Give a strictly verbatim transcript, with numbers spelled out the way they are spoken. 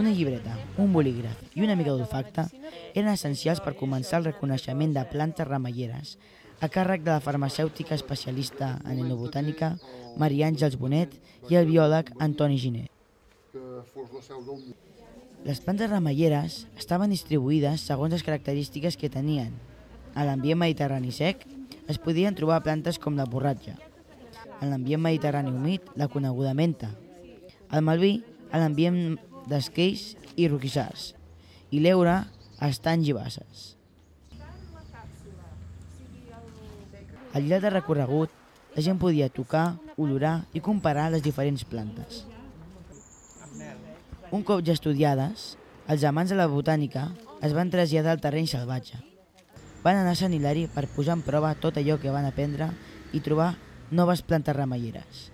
Una llibreta, un bolígraf i una mica d'olfacte eren essencials per començar el reconeixement de plantes remeieres a càrrec de la farmacèutica especialista en etnobotànica Maria Àngels Bonet i el biòleg Antoni Giner. Les plantes remeieres estaven distribuïdes segons les característiques que tenien. A l'ambient mediterrani sec es podien trobar plantes com la borratja, en l'ambient mediterrani humit la coneguda menta, al Malví a l'ambient d'esqueix i roquissars, i l'Eure a estanys i basses. Al llarg del recorregut, la gent podia tocar, olorar i comparar les diferents plantes. Un cop ja estudiades, els amants de la botànica es van traslladar al terreny salvatge. Van anar a Sant Hilari per posar en prova tot allò que van aprendre i trobar noves plantes remeieres.